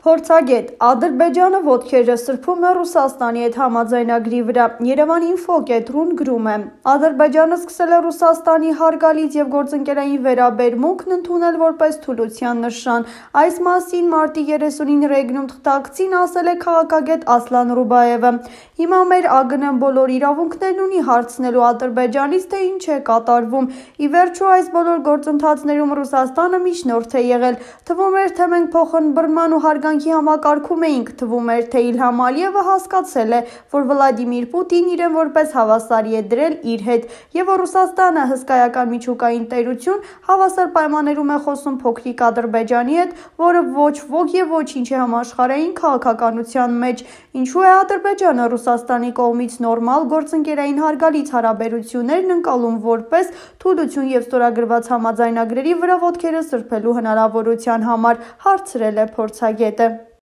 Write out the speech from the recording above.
Փորձագետ. Ադրբեջանը ոտքերը սրբում է Ռուսաստանի հետ համաձայնագրի վրա։ Երևանի ինֆոկետրոն գրում է. Ադրբեջանը սկսել է Ռուսաստանի հարգալից և գործընկերային վերաբերմունքն ընդունել որպես թուլության նշան։ Այս մասին մարտի 30-ին Ռեգնում թղթակցին ասել է քաղաքագետ Ասլան Ռուբայևը։ Հիմա մեր ԱԳՆ-ն բոլոր իրավունքներն ունի հարցնելու Ադրբեջանից, թե ինչ է կատարվում։ Ի վերջո, այս բոլոր գործընթացներում Ռուսաստանը միջնորդ է եղել։ Թվում էր, թե մենք փոխըմբռնման ու հարգանքի համակարգում էինք, թվում էր, թե Իլհամ Ալիևը հասկացել է, որ Վլադիմիր Պուտինն իրեն որպես հավասարի է դրել իր հետ, և որ Ռուսաստանը հսկայական միջուկային տերություն հավասար պայմաններում է խոսում փոքրիկ Ադրբեջանի հետ, որը ոչ ոք և ոչինչ է համաշխարհային քաղաքականության մեջ։ Ինչու է Ադրբեջանը Ռուսաստանի կողմից նորմալ գործընկերային հարգալից հարաբերություններն ընկալում որպես թուլություն և ստորագրված համաձայնագրերի վրա ոտքերը սրբելու հնարավորության համար, հարցրել է փորձագետը։